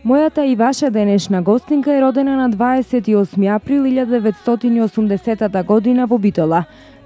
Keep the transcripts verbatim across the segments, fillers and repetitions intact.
Мојата и ваша денешна гостинка е родена на дваесет и осми април илјада деветстотини и осумдесетата година во Битола.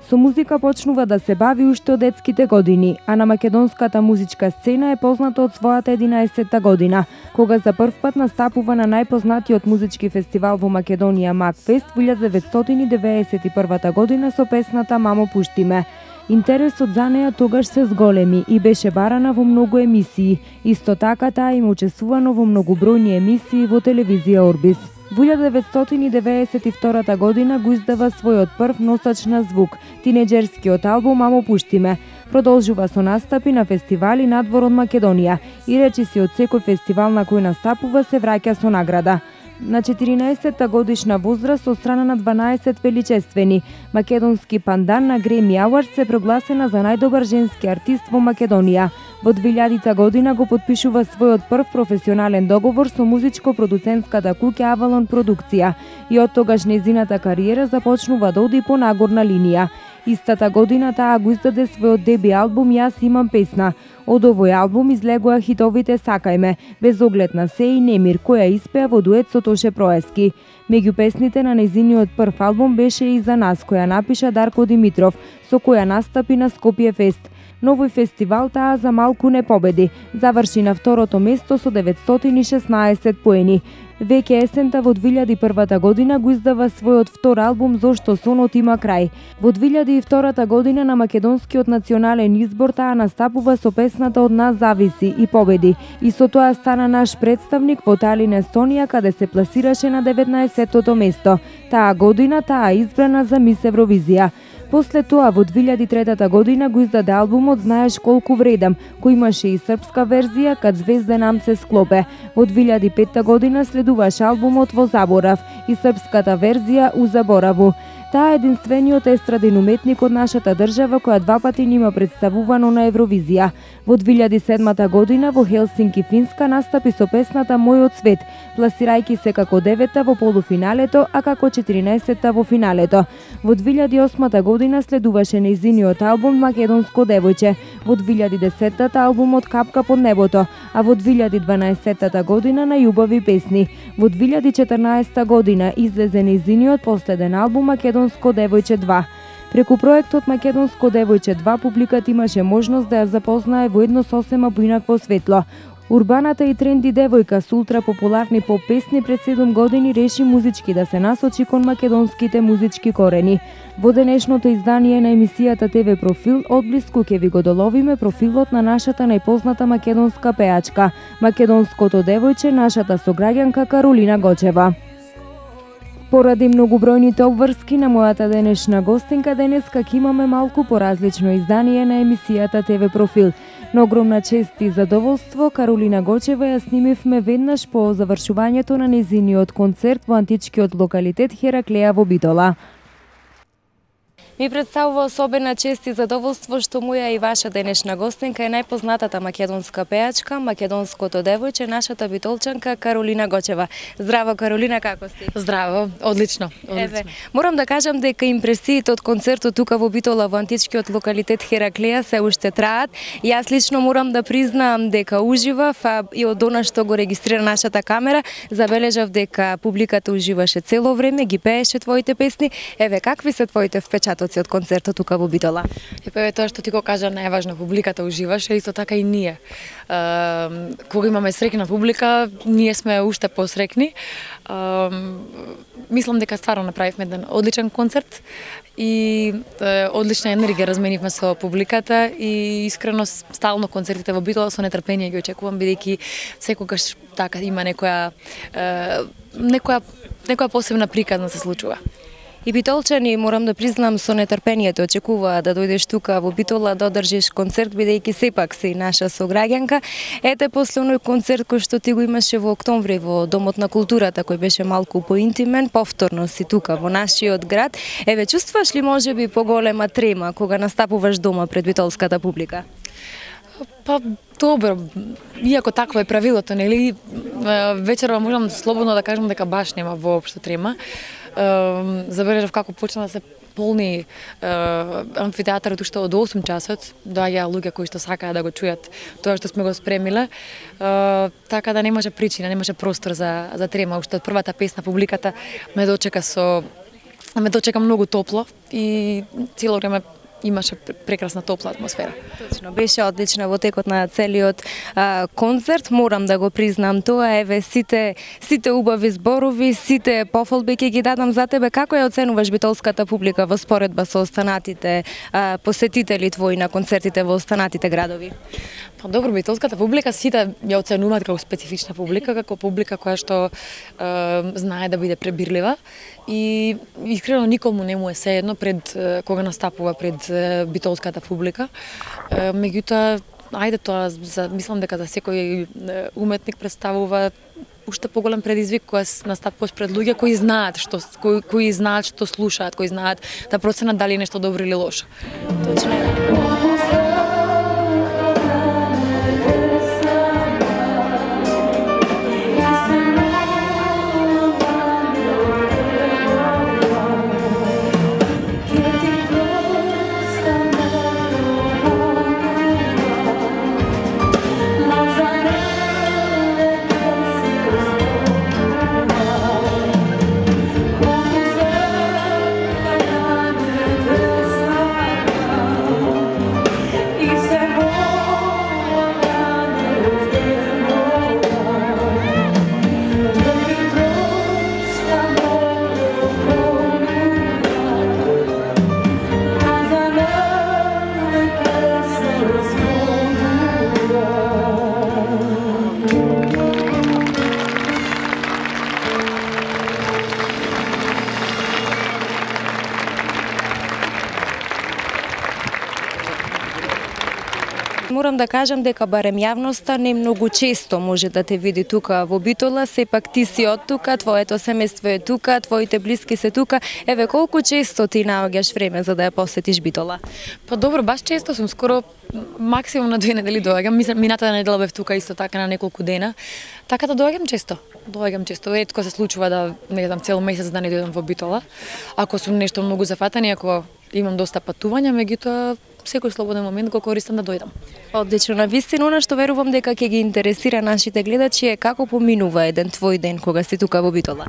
Со музика почнува да се бави уште од детските години, а на македонската музичка сцена е позната од својата единаесетта година, кога за прв пат настапува на најпознатиот музички фестивал во Македонија Макфест во илјада деветстотини деветдесет и првата година со песната Мамо пушти ме. Интересот за неа тогаш се зголеми и беше барана во многу емисии. Исто така таа им учествувано во многобројни емисии во телевизија Орбис. Во илјада деветстотини деветдесет и втората година го издава својот прв носач на звук, тинеџерскиот албум Мамо пушти ме. Продолжува со настапи на фестивали надвор од Македонија и речиси од секој фестивал на кој настапува се враќа со награда. На четиринаесетта годишна возраст од страна на дванаесет величествени, македонски пандан на Греми Ауард се прогласена за најдобар женски артист во Македонија. Во двилјадита година го потпишува својот прв професионален договор со музичко-продуцентската куќа Авалон Продукција и од тогаш нејзината кариера започнува да оди по нагорна линија. Истата година таа го издаде својот деби албум Јас имам песна. Од овој албум излегоа хитовите Сакај ме, Без оглед на се и Немир, која испеа во дует со Тоше Проески. Меѓу песните на нејзиниот прв албум беше и За нас, која напиша Дарко Димитров, со која настапи на Скопје Фест. Но овој фестивал таа за малку не победи. Заврши на второто место со деветстотини и шеснаесет поени. Веќе есента во двилјади и првата година го издава својот втор албум Зошто сонот има крај. Во двилјади и втората година на македонскиот национален избор таа настапува со песната Од нас зависи и победи. И со тоа стана наш представник во Талин, Естонија, каде се пласираше на деветнаесеттото место. Таа година таа избрана за Мис Евровизија. После тоа во двилјади и третата година го издаде албумот Знаеш колку вредам, кој имаше и српска верзија Кад звезде нам се склопе. Во двилјади и петта година следуваше албумот Во заборав и српската верзија У забораву. Таа е единствениот естраден уметник од нашата држава која два пати нима представувано на Евровизија. Во двилјади и седмата година во Хелсинки, Финска, настапи со песната Мојот свет, пласирајќи се како девета во полуфиналето, а како четиринаесетта во финалето. Во двилјади и осмата година следуваше нејзиниот албум Македонско девојче, во двилјади и десеттата албумот Капка под небото, а во двилјади и дванаесеттата година на Љубави песни. Во двилјади и четрнаесетта година излезе нејзиниот последен албум Македонско девојче два. Преку проектот Македонско девојче два публиката имаше можност да ја запознае во едно сосема поинакво светло. Урбаната и тренди девојка со ултра популарни поп песни пред седум години реши музички да се насочи кон македонските музички корени. Во денешното издание на емисијата Те Ве Профил одблиску ќе ви го доловиме профилот на нашата најпозната македонска пеачка, македонското девојче, нашата сограѓанка Каролина Гочева. Поради многобројните обврски на мојата денешна гостинка, денеска ќе имаме малку поразлично издание на емисијата Те Ве Профил. На огромна чест и задоволство, Каролина Гочева ја снимивме веднаш по завршувањето на нејзиниот концерт во античкиот локалитет Хераклеја во Битола. Ми представува особена чест и задоволство што моја и ваша денешна гостинка е најпознатата македонска пеачка, македонското девојче, нашата битолчанка Каролина Гочева. Здраво, Каролина, како сте? Здраво, одлично, одлично. Еве, морам да кажам дека импресиите од концертот тука во Битола во античкиот локалитет Хераклеја се уште траат. Јас лично морам да признам дека уживав, а и од она што го регистрира нашата камера, забележав дека публиката уживаше цело време, ги пееше твоите песни. Еве, какви се твоите впечатоци од концертот тука во Битола? Епа, тоа што ти го кажа најважно, публиката уживаше, исто така и ние. Uh, кога имаме среќна публика, ние сме уште посрекни. Uh, мислам дека стварно направивме еден одличен концерт и uh, одлична енергија разменивме со публиката и искрено стално концертите во Битола со нетрпение ги очекувам, бидејќи секогаш така има некоја uh, некоја некоја посебна приказна се случува. И битолчани, морам да признам, со нетрпението очекуваа да дојдеш тука во Битола да одржиш концерт, бидејќи сепак си наша сограѓанка. Ете, после оној концерт кој што ти го имаше во октомври во Домот на културата, кој беше малку поинтимен, повторно си тука во нашиот град. Еве, чувствуваш ли можеби поголема трема кога настапуваш дома пред битолската публика? Па, добро, иако такво е правилото, нели, вечерва можам слободно да кажам дека баш нема воопшто трема. Забележав како почна да се полни амфитеатарот уште од осум часот, доаѓаа луѓе кои што сакаа да го чујат тоа што сме го спремиле, така да немаше причина, немаше простор за за трема. Уште од првата песна публиката ме дочека со ме дочека многу топло и цело време имаше прекрасна топла атмосфера. Точно, беше одлична во текот на целиот а, концерт, морам да го признам тоа. Еве сите сите убави зборови, сите пофалби ќе ги дадам за тебе. Како ја оценуваш битолската публика во споредба со останатите а, посетители твои на концертите во останатите градови? Па добро, битолската публика сите ја оценуваат како специфична публика, како публика која што е, знае да биде пребирлива и искрено никому не му е сеедно пред кога настапува пред битолската публика. Е, меѓутоа, ајде тоа, за, мислам дека за секој уметник представува уште поголем предизвик кога настапуваш пред луѓе кои знаат што кои, кои знаат што слушаат, кои знаат да проценат дали е нешто добро или лошо. Точно. Морам да кажам дека барем јавноста не многу често може да те види тука во Битола, сепак ти си од тука, твоето семејство е тука, твоите блиски се тука. Еве колку често ти наоѓаш време за да ја посетиш Битола? Па добро, баш често сум, скоро максимум на две недели доаѓам. Мислам, минатата недела бев тука исто така на неколку дена. Така да доаѓам често. Доаѓам често. Ретко се случува да не знам цел месец да не дојдам во Битола. Ако сум нешто многу зафатен и ако имам доста патувања, меѓутоа секој слободен момент го користам да дојдам. Одлично, на вистина, она што верувам дека ќе ги интересира нашите гледачи е како поминува еден твој ден кога си тука во Битола.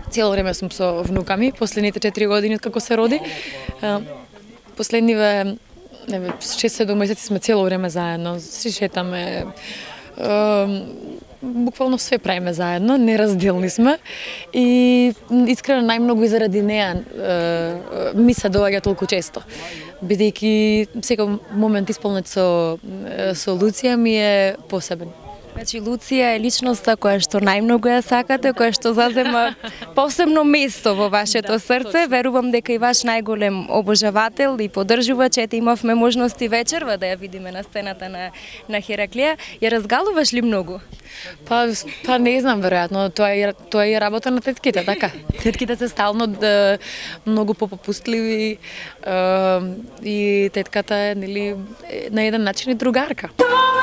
Цело време сум со внуками, последните четири години како се роди. Последниве шест-седум месеци сме цело време заедно, си шетаме, буквално све правиме заедно, неразделни сме и искрено најмногу и заради неа ми се доаѓа толку често. Бидејќи секој момент исполнет со со Луција ми е посебен. Значи Луција е личноста која што најмногу ја сакате, која што зазема посебно место во вашето срце. Верувам дека и ваш најголем обожавател и поддржувач, ете имавме можности вечерва да ја видиме на сцената на на Хераклија. Ја разгалуваш ли многу? Па па не знам, веројатно тоа е тоа е работа на тетките, така. Тетките се стално да, многу попопустливи е, и тетката е нели на еден начин и другарка. Oh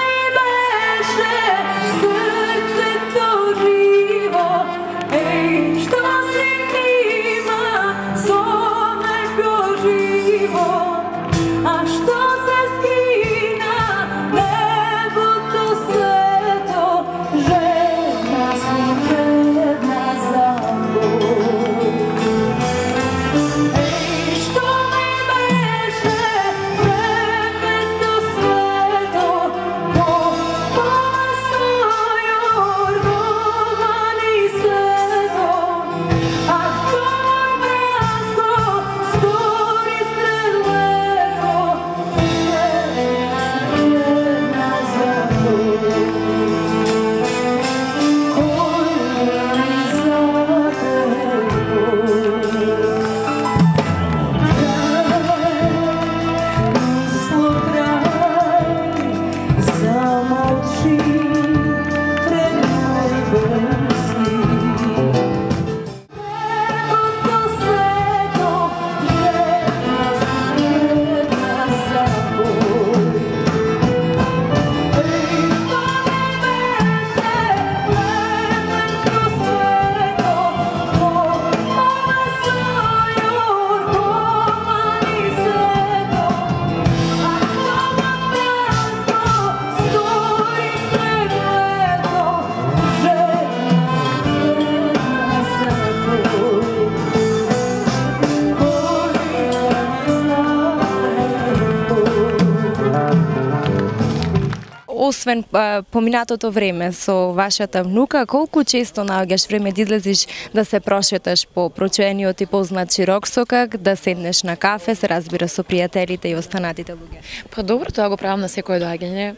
освен а, поминатото време со вашата внука, колку често наоѓаш време да излезиш да се прошеташ по прочуениот и познат Широксокак, да седнеш на кафе, се разбира со пријателите и останатите луѓе? Па добро, тоа го правам на секое доаѓање.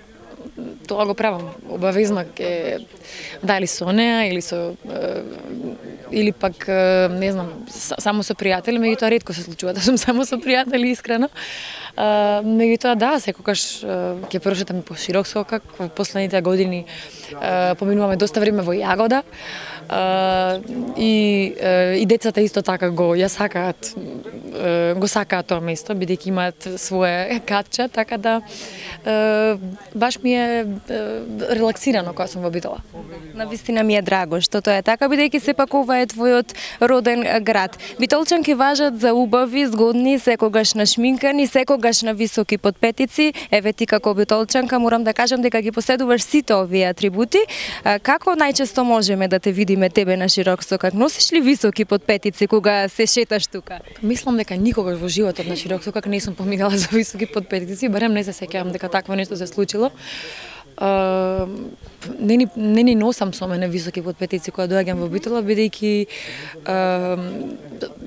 Тоа го правам обавезно, ке дали со неа или со или пак не знам, само со пријатели, меѓутоа ретко се случува да сум само со пријатели, искрено. Меѓутоа да, секогаш ќе прошетам по Широксокак. Во последните години поминуваме доста време во Јагода. И и децата исто така го ја сакаат, го сакаат тоа место, бидејќи имаат свое катче, така да баш ми е релаксирано кога сум во Битола. Навистина ми е драго што тоа е така, бидејќи сепак ова е твојот роден град. Битолчанки важат за убави, згодни, секогаш нашминкани, секогаш на високи подпетици. Еве ти како битолчанка морам да кажам дека ги поседуваш сите овие атрибути. Како најчесто можеме да те видиме тебе на Широксокак? Носиш ли високи подпетици кога се шеташ тука? Мислам дека никогаш во животот на Широксокак не сум поминала за високи подпетици, барем не се сеќавам дека такво нешто се случило. Uh, не, ни, не ни носам со мене високи подпетици кога доаѓам во Битола, бидејќи uh,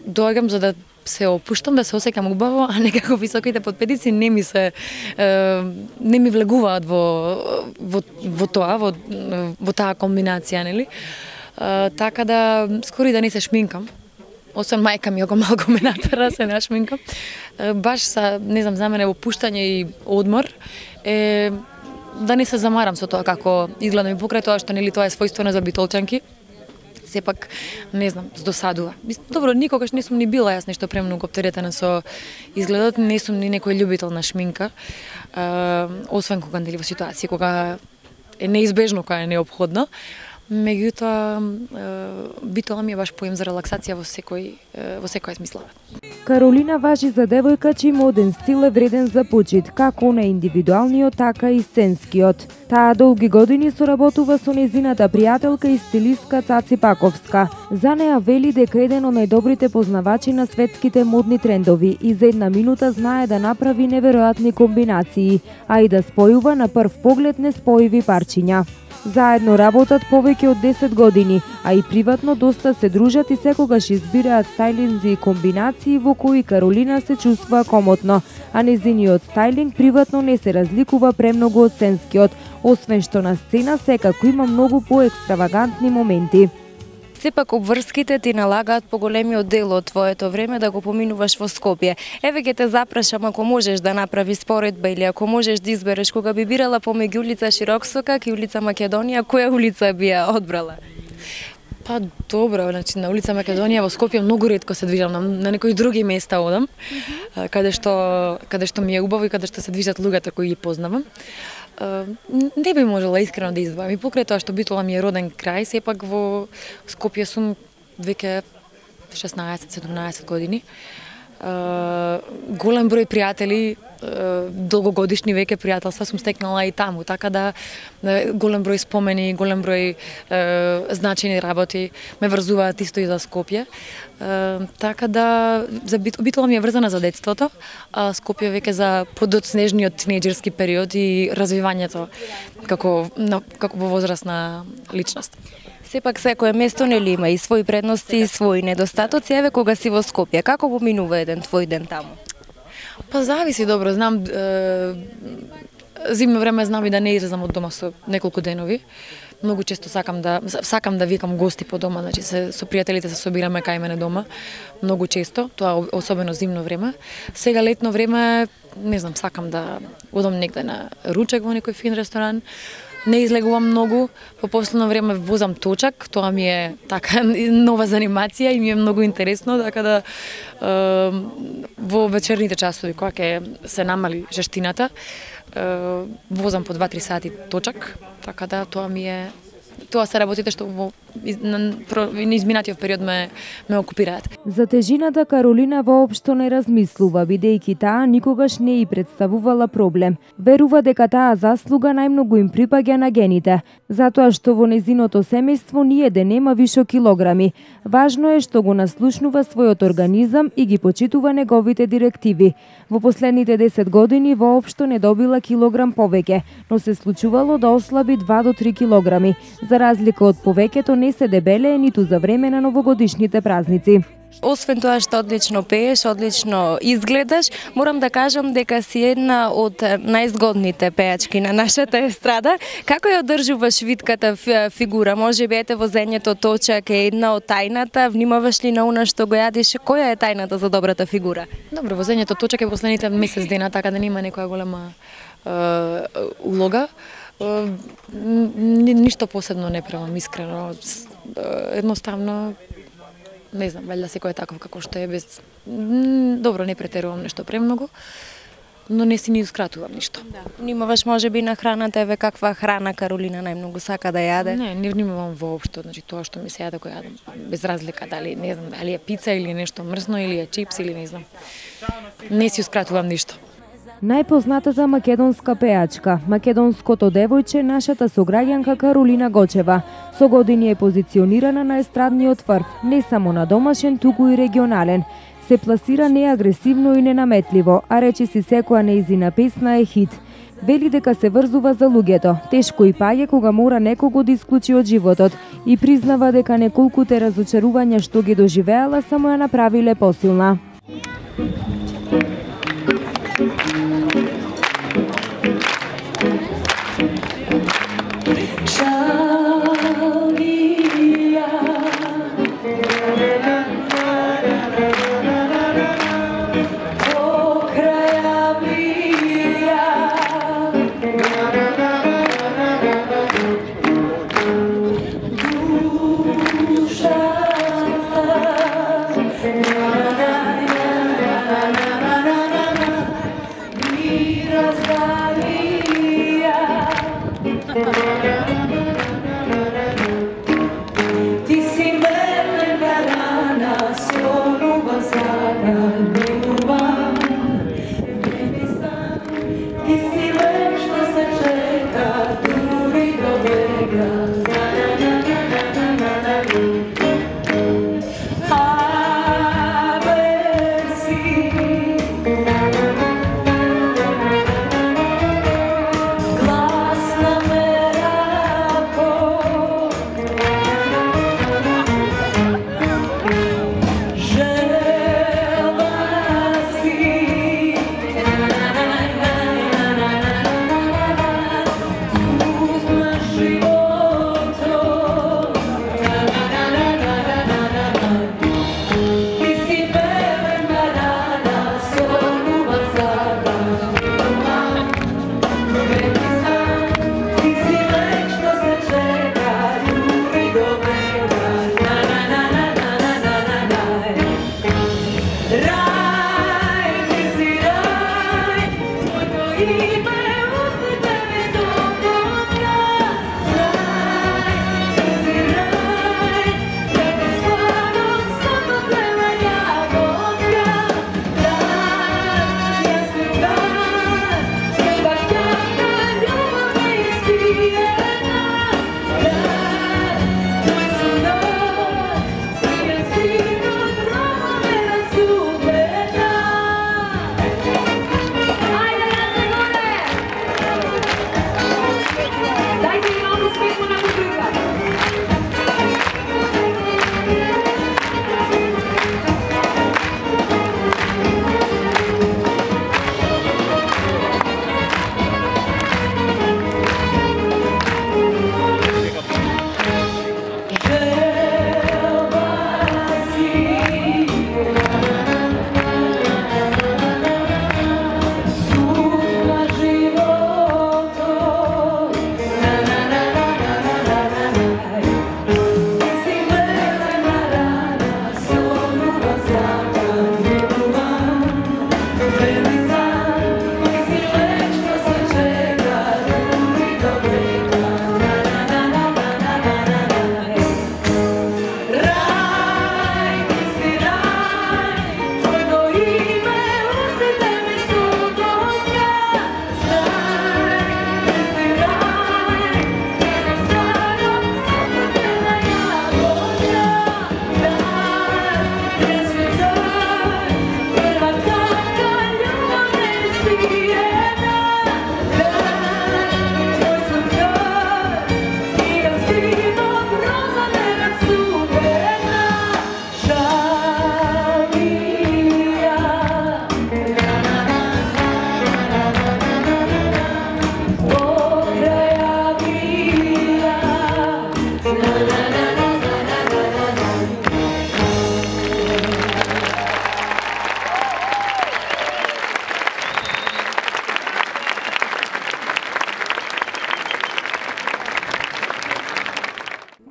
доаѓам за да се опуштам, да се осеќам убаво, а некако високите подпетици не ми се uh, не ми влегуваат во во, во тоа, во, во таа комбинација, нели? Uh, така да скоро и да не се шминкам. Освен мајка ми ако малку ме натера се нашминкам. Uh, баш са, не знам, за мене опуштање и одмор е да не се замарам со тоа како изгледам и покрај тоа што нели тоа е својствено за битолчанки. Сепак, не знам, здосадува. Добро, никогаш не сум ни била јас нешто премногу оптеретена со изгледот, не сум ни некој љубител на шминка, а, освен кога нели во ситуација кога е неизбежно, кога е неопходно. Меѓутоа, Битола ми е баш поем за релаксација во секој во секоја смисла. Каролина важи за девојка чиј моден стил е вреден за почит, како на индивидуалниот, така и сценскиот. Таа долги години соработува со незината пријателка и стилистка Цаци Паковска. За неа вели дека еден од најдобрите познавачи на светските модни трендови и за една минута знае да направи неверојатни комбинации, а и да спојува на прв поглед неспојиви парчиња. Заедно работат повеќе од десет години, а и приватно доста се дружат и секогаш избираат стајлинзи и комбинации во кои Каролина се чувствува комотно, а незиниот стајлинг приватно не се разликува премногу од сценскиот, освен што на сцена секако има многу поекстравагантни моменти. Сепак обврските ти налагаат поголемиот дел од твоето време да го поминуваш во Скопје. Еве ќе те запрашам, ако можеш да направи споредба или ако можеш да избереш кога би бирала помеѓу улица Широксокак и улица Македонија, која улица би ја одбрала? Па добро, значи на улица Македонија во Скопје многу ретко се движам, на, на некои други места одам, mm-hmm. каде што каде што ми е убаво и каде што се движат луѓето кои ги познавам. Uh, не би можела искрено да издвојам. И покрај тоа што Битола ми е роден крај, сепак во Скопје сум веќе шеснаесет седумнаесет години. Uh, голем број пријатели, uh, долгогодишни веќе пријателства сум стекнала и таму, така да uh, голем број спомени, голем број uh, значени работи ме врзуваат исто и за Скопје. Uh, така да за Бит, Битола ми е врзана за детството, а Скопје веќе за подоцнежниот тинеџерски период и развивањето како на, како во возрастна личност. Сепак секое место нели има и своји предности и своји недостатоци. Еве кога си во Скопје, како поминува еден твој ден таму? Па зависи, добро, знам е, зимно време знам и да не излезам од дома со неколку денови. Многу често сакам да сакам да викам гости по дома, значи се со пријателите се собираме кај мене дома. Многу често, тоа особено зимно време. Сега летно време, не знам, сакам да одам негде на ручек во некој фин ресторан. Не излегувам многу, по последно време возам точак, тоа ми е така нова занимација и ми е многу интересно, така да е, во вечерните часови кога ќе се намали жештината, е, возам по два-три сати точак, така да тоа ми е тоа се работите што во на изминатиот период ме ме окупираат. За тежината Каролина воопшто не размислува, бидејќи таа никогаш не и представувала проблем. Верува дека таа заслуга најмногу им припаѓа на гените, затоа што во незиното семејство ниеден нема вишо килограми. Важно е што го наслушнува својот организам и ги почитува неговите директиви. Во последните десет години воопшто не добила килограм повеќе, но се случувало да ослаби два до три килограми. За разлика од повеќето не се дебелее ниту за време на новогодишните празници. Освен тоа што одлично пееш, одлично изгледаш, морам да кажам дека си една од најзгодните пеачки на нашата естрада. Како ја одржуваш витката фигура? Може би ете возењето точак е една од тајната, внимаваш ли на она што го јадиш? Која е тајната за добрата фигура? Добро, возењето точак е последните месец дена, така да нема некоја голема е, улога. Е, ништо посебно не правам, искрено. Едноставно не знам, валјда секој е таков како што е, без добро не претерувам нешто премногу, но не си ниускратувам ништо. Да. Внимаваш можеби на храната, еве каква храна Каролина најмногу сака да јаде? Не, не внимавам воопшто, значи тоа што ми се јаде го јадам, без разлика дали не знам, дали е пица или нешто мрсно или е чипс или не знам. Не сиускратувам ништо. Најпознатата македонска пеачка, македонското девојче, нашата сограѓанка Каролина Гочева, со години е позиционирана на естрадниот врв, не само на домашен, туку и регионален. Се пласира неагресивно и ненаметливо, а речиси секоја нејзина песна е хит. Вели дека се врзува за луѓето, тешко и паѓа кога мора некого да исклучи од животот и признава дека неколкуте разочарувања што ги доживеала само ја направиле посилна.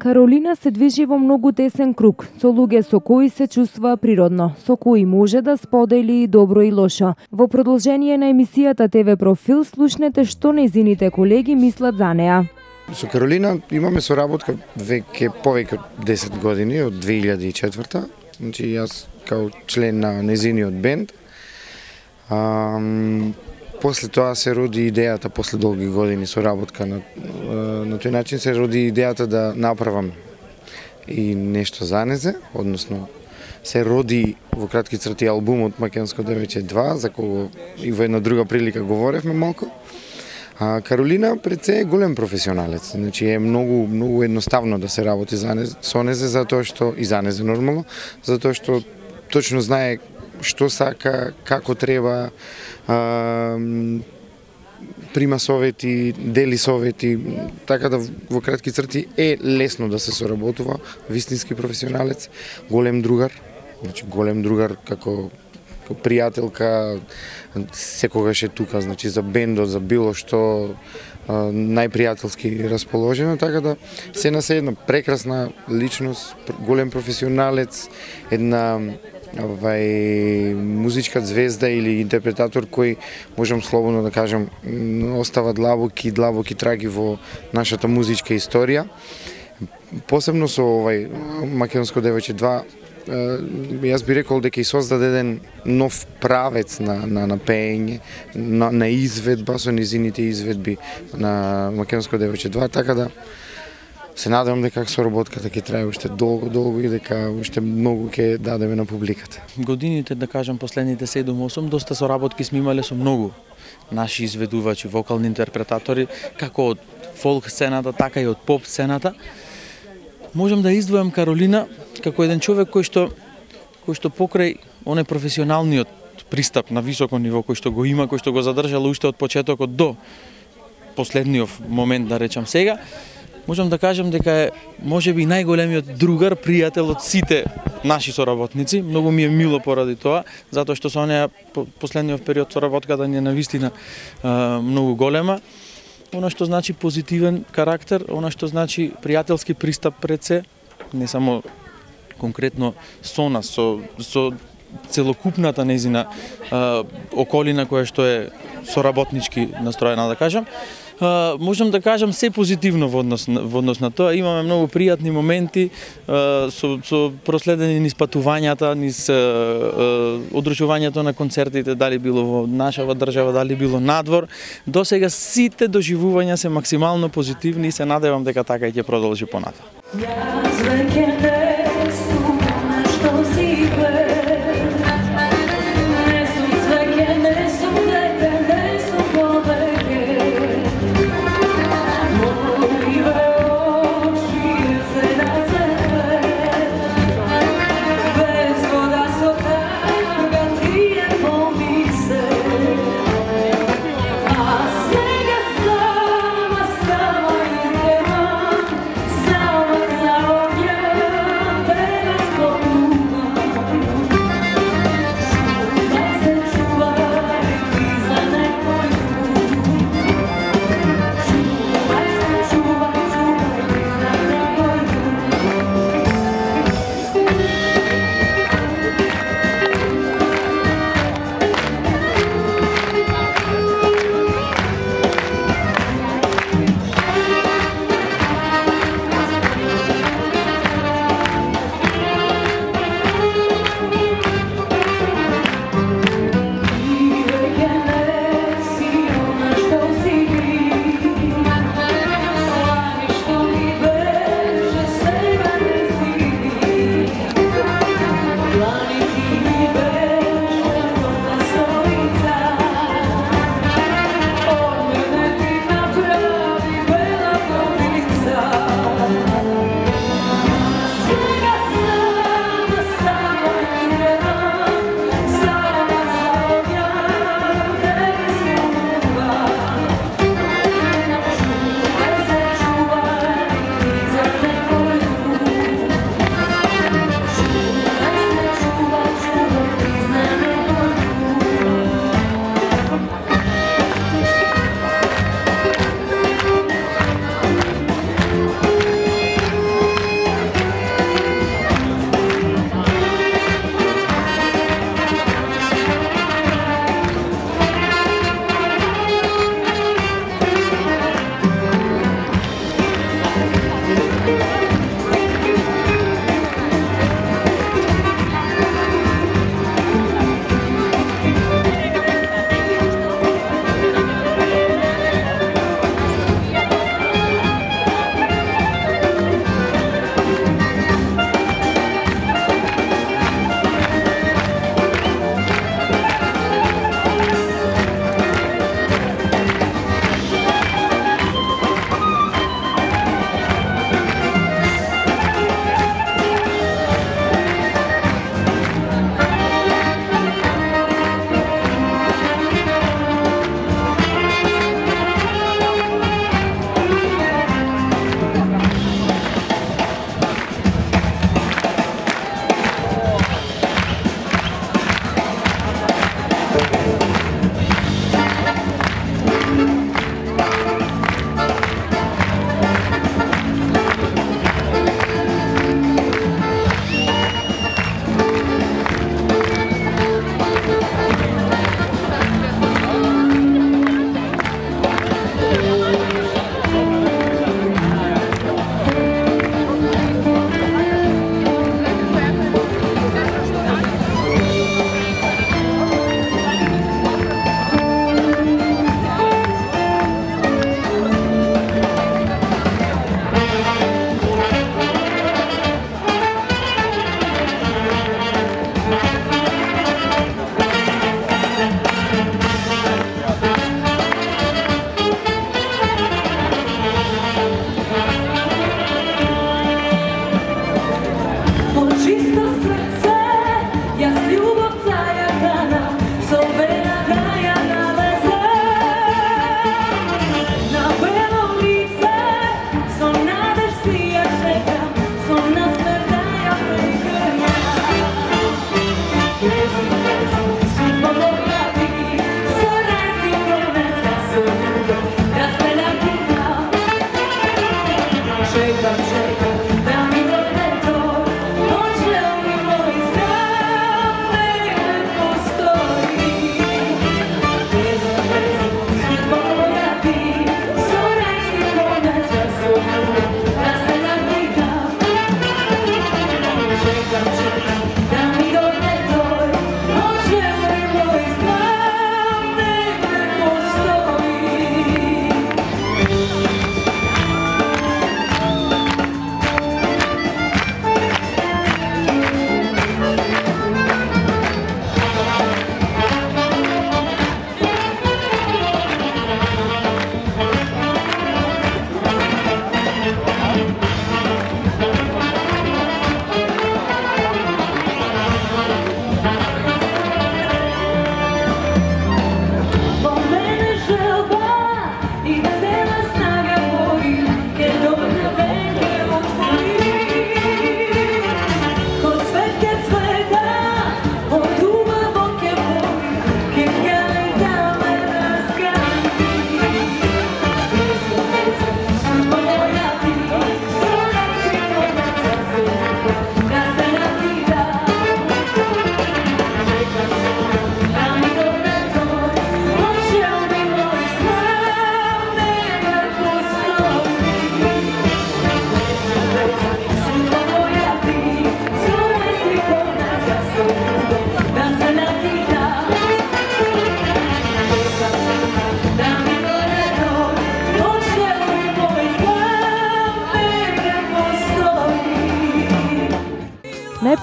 Каролина се движи во многу тесен круг, со луѓе со кои се чувствува природно, со кои може да сподели и добро и лошо. Во продолжение на емисијата Те Ве Профил слушнете што нејзините колеги мислат за неа. Со Каролина имаме соработка веќе повеќе од десет години, од две илјади и четврта. Значи јас као член на нејзиниот бенд. Ам, после тоа се роди идејата, после долги години соработка на, на тој начин се роди идејата да направам и нешто за незе, односно се роди во кратки црти албумот Македонско девојче два, за кого и во една друга прилика говоревме малку. А Каролина пред се е голем професионалец, значи е многу многу едноставно да се работи за незе, со незе, затоа што и за незе нормално, затоа што точно знае што сака, како треба, а, прима совети, дели совети, така да во кратки црти е лесно да се соработува, вистински професионалец, голем другар, значи голем другар како пријателка, секогаш е тука, значи за бендот, за било што, најпријателски расположена, така да се на се една прекрасна личност, голем професионалец, една овај музичка звезда или интерпретатор кој, можам слободно да кажам, остава длабоки, длабоки траги во нашата музичка историја. Посебно со овај Македонско девојче два, јас би рекол дека и создаде еден нов правец на, на, на пеење, на, на изведба, со низините изведби на Македонско девојче два, така да се надевам дека соработката ќе трае уште долго, долго и дека уште многу ќе дадеме на публиката. Годините, да кажам, последните седум-осум, доста соработки сме имале со многу наши изведувачи, вокални интерпретатори, како од фолк сцената, така и од поп сцената. Можам да издвојам Каролина како еден човек кој што кој што покрај оне професионалниот пристап на високо ниво кој што го има, кој што го задржала уште од почетокот до последниот момент, да речам сега, можам да кажам дека е можеби најголемиот другар, пријател од сите наши соработници. Многу ми е мило поради тоа, затоа што со неа последниот период соработката ни е навистина многу голема. Она што значи позитивен карактер, она што значи пријателски пристап пред се, не само конкретно со нас, со, со целокупната нејзина околина која што е соработнички настроена, да кажам. Uh, можам да кажам се позитивно во однос, во однос на тоа. Имаме многу пријатни моменти uh, со, со проследени низ патувањата, низ uh, uh, одржувањето на концертите, дали било во нашава држава, дали било надвор. До сега сите доживувања се максимално позитивни и се надевам дека така и ќе продолжи понатаму. Yeah.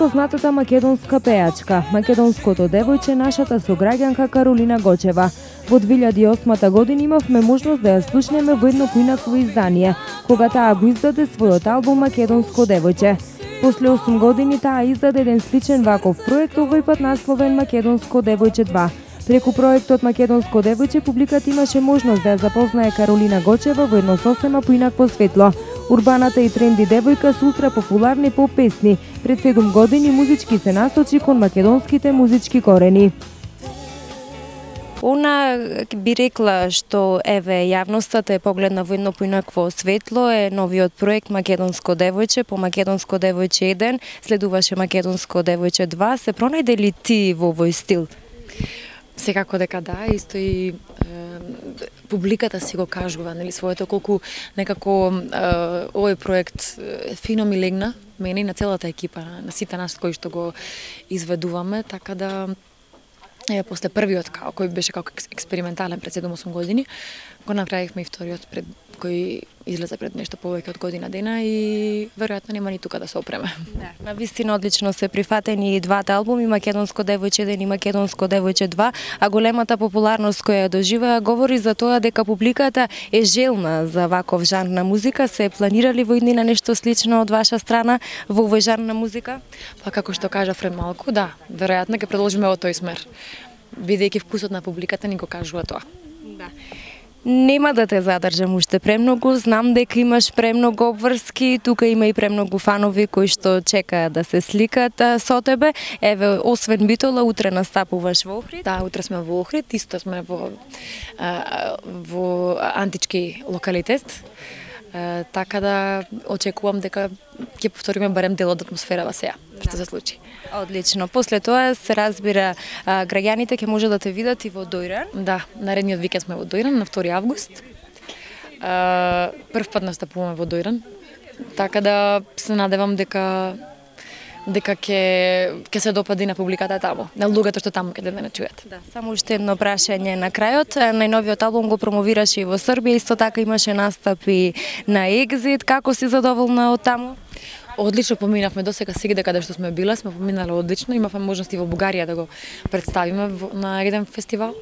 најпознатата македонска пејачка, македонското девојче, нашата сограѓанка Каролина Гочева. Во две илјади и осма година имавме можност да ја слушнеме во едно поинакво издание, кога таа го издаде својот албум Македонско девојче. После осум години таа издаде еден сличен ваков проект, овој пат насловен Македонско девојче два. Преку проектот Македонско девојче публиката имаше можност да ја запознае Каролина Гочева во едно сосема поинакво светло. Урбаната и тренди девојка со ултра популарни поп песни. Пред седум години музички се насочи кон македонските музички корени. Она би рекла што еве јавноста е погледна во едно поинакво светло е новиот проект Македонско девојче, по Македонско девојче еден, следуваше Македонско девојче два. Се пронајде ли ти во овој стил? Секако дека да, исто и е, публиката си го кажува, нели, своето, колку некако е, овој проект е, фино ми легна, мене и на целата екипа, на сите нас кои што го изведуваме, така да е, после првиот, као, кој беше како експериментален пред седум-осум години, го направивме и вториот пред кој излезе пред нешто повеќе од година дена и веројатно нема ни тука да се опреме. Да, на вистина одлично се прифатени и двата албуми, Македонско девојче еден и Македонско девојче два, а големата популарност која ја доживеа говори за тоа дека публиката е желна за ваков жанр на музика. Се планирали во иднина нешто слично од ваша страна во овој жанр на музика? Па како што кажа пред малку, да, веројатно ќе продолжиме во тој смер. Бидејќи вкусот на публиката ни го кажува тоа. Да. Нема да те задржам уште премногу, знам дека имаш премногу обврски, тука има и премногу фанови кои што чекаат да се сликат со тебе. Еве, освен Битола, утре настапуваш во Охрид? Да, утре сме во Охрид, исто сме во, а, во антички локалитет, а, така да очекувам дека ќе повториме барем дел од атмосферава сеја, што се случи. Одлично. После тоа се разбира, а, граѓаните ќе може да те видат и во Дојран. Да, наредниот викенд сме во Дојран на втори август. А, прв пат настапуваме во Дојран, така да се надевам дека дека ќе ќе се допади на публиката таму, на луѓето што таму ќе да не чујат. Да, само уште едно прашање на крајот. Најновиот албум го промовираше и во Србија, исто така имаше настапи на Екзит. Како си задоволна од таму? Одлично поминавме досега, сигде каде што сме биле, сме поминале одлично. Имавме можности во Бугарија да го представиме на еден фестивал.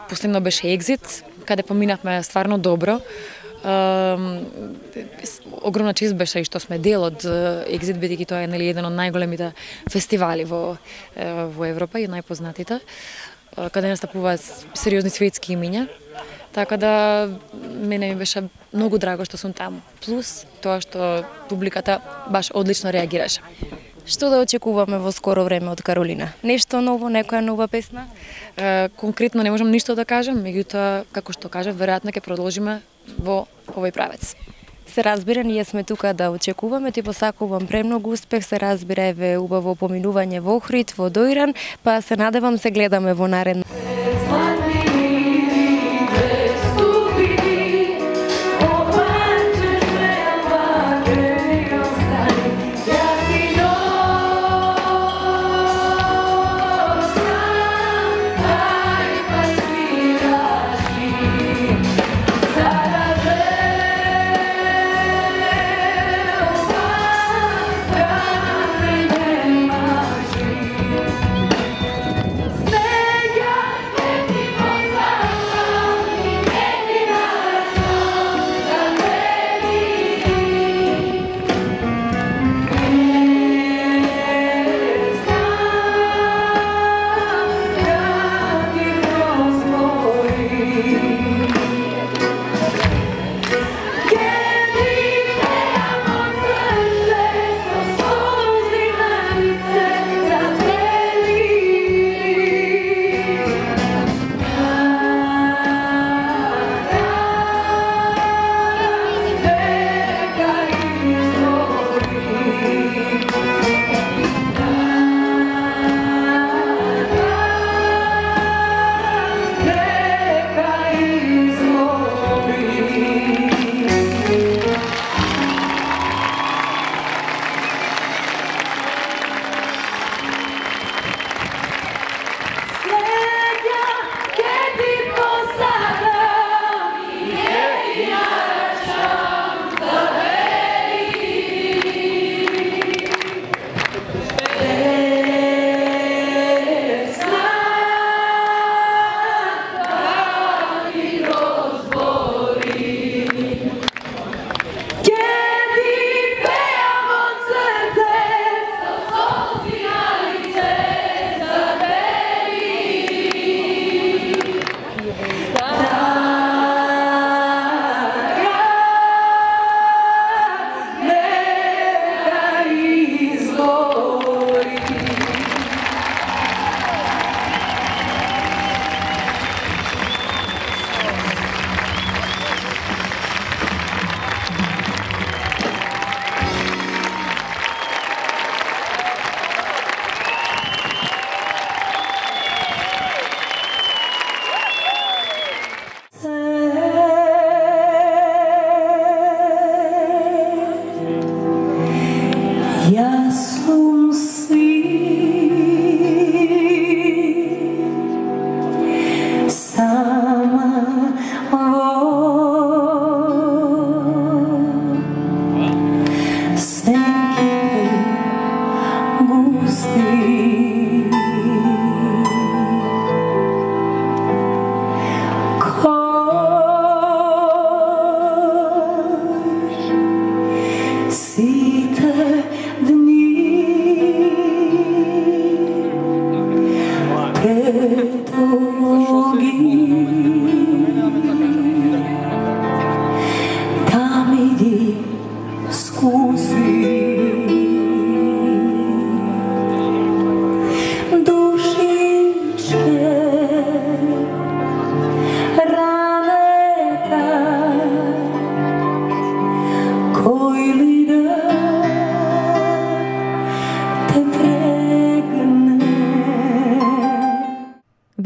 Последно беше Екзит, каде поминавме стварно добро. Uh, огромна чест беше и што сме дел од Екзит, бидејќи тоа е, нели, еден од најголемите фестивали во, во Европа и најпознатите, uh, каде настапуваат сериозни светски имиња. Така да мене ми беше многу драго што сум таму. Плюс тоа што публиката баш одлично реагираше. Што да очекуваме во скоро време од Каролина? Нешто ново, некоја нова песна? Uh, конкретно не можам ништо да кажам, меѓутоа, како што кажав, веројатно ќе продолжиме во овој правец. Се разбира, ние сме тука да очекуваме, ти посакувам премногу успех, се разбира, еве убаво поминување во Охрид, во Дојран, па се надевам се гледаме во наредно. Snega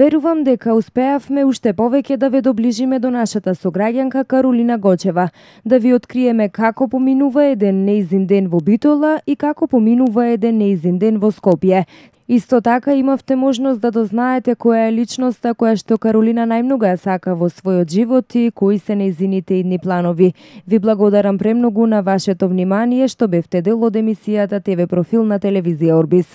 Верувам дека успеавме уште повеќе да ве доближиме до нашата сограѓанка Каролина Гочева, да ви откриеме како поминува еден нејзин ден во Битола и како поминува еден нејзин ден во Скопје. Исто така имавте можност да дознаете која е личноста која што Каролина најмногу ја сака во својот живот и кои се нејзините идни планови. Ви благодарам премногу на вашето внимание што бевте дел од емисијата Те Ве Профил на телевизија Орбис.